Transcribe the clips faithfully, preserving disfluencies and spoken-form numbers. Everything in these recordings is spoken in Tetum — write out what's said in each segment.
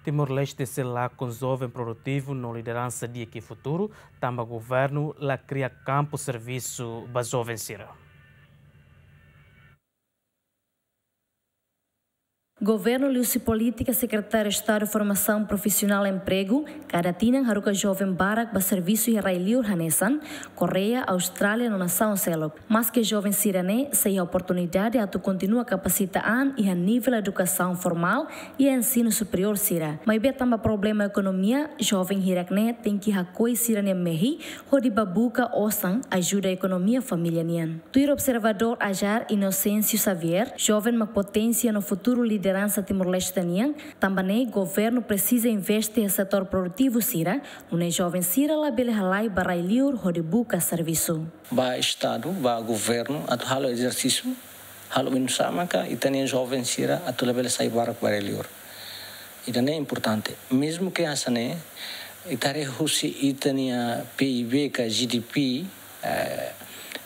Timor-Leste sei lakon joven produtivu no lideransa di'ak iha futuru, tanba governu la kria kampu servisu ba joven sira. Governu liuhusi polítika Sekretáriu Estadu Formasaun Profisionál Empregu, kada tinan haruka joven barak ba servisu iha rai-liur hanesan Koreia, Austrália no nasaun seluk. Maske joven sira-ne'e sei iha oportunidade atu kontinua kapasita an iha nivel edukasaun formál i ensinu superiór sira. Maibé tanba problema ekonomia, joven hirak-ne'e tenke hakoi sira-nia mehi hodi bá buka osan ajuda ekonomia família nian. Tuir observadór AJAR Inocêncio Xavier, joven mak poténsia no futuru lideransa Timor-Leste nian, tanba ne'e governu presiza investe iha setór produtivu sira, nune'e joven sira labele halai ba rai-liur hodi buka servisu. Ba Estadu, ba governu, atu halo ezersísiu, halo oinsá maka ita-nia joven sira atu labele sai barak ba rai-liur. Ida-ne'e importante. Mezmu ke hanesan ne'e, ita haree husi ita-nia P I B ka G D P, eh,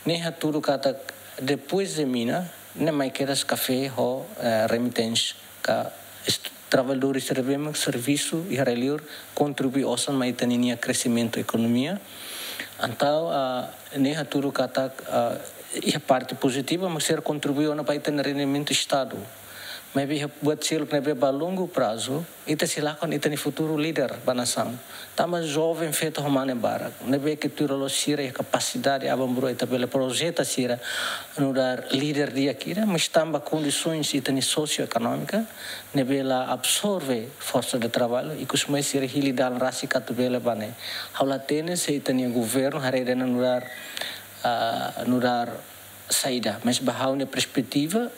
ne'e hatudu katak depois de mina, ne'e mai kedas kafé ho, eh, remittance ka est-, traballadór sira ne'ebé mak servisu iha rai-liur kontribui osan mai ita-nia kreximentu ekonomia. Entaun, ah, ne'e hatudu katak, ah, iha parte pozitiva, mak sira kontribui ona ba ita-nia rendimentu Estadu. Maibé iha buat seluk ne'ebé ba longu prazu, ita sei lakon ita-nia futuru líder ba nasaun. Tanba joven feto ho mane barak, ne'ebé ke tuir loloos sira iha kapasidade aban-bainrua ita bele projeta sira nu'udar líder di'ak ida, mas tanba kondisoens ita-nia sosioekonómika ne'ebé la absorve forsa de traballu, ikus mai sira hili dalan rasik atu bele bá ne'e. Ha'u la hatene se ita-nia governu haree ida-ne'e nu'udar, ah, nu'udar saida, mas ba ha'u-nia perspetiva,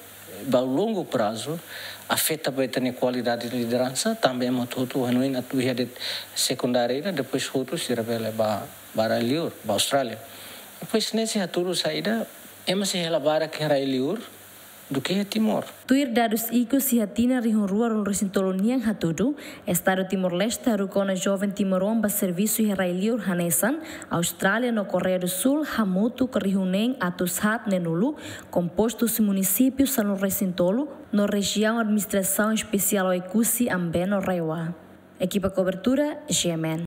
ba longu prazu, afeta ba ita-nia kualidade de lideransa, tanba ema hotu-hotu hanoin atu iha de'it sekundária ida, depois hotu sira bele bá, bá rai-liur, bá Austrália. Depois ne'e sei hatudu saida, ema sei hela barak iha rai-liur duké iha Timor. Tuir dadus ikus iha tinan rihun rua ruanulu-resin-tolu nian hatudu, Estadu Timor-Leste haruka ona joven timoroan ba servisu iha rai-liur hanesan Austrália no Koreia do Sul hamutuk rihun neen atus haat neenulu, kompostu husi munisípiu sanulu-resin-tolu no Rejiaun Administrasaun Espesiál Oekusi Ambeno RAEOA. Ekipa kobertura, G M N.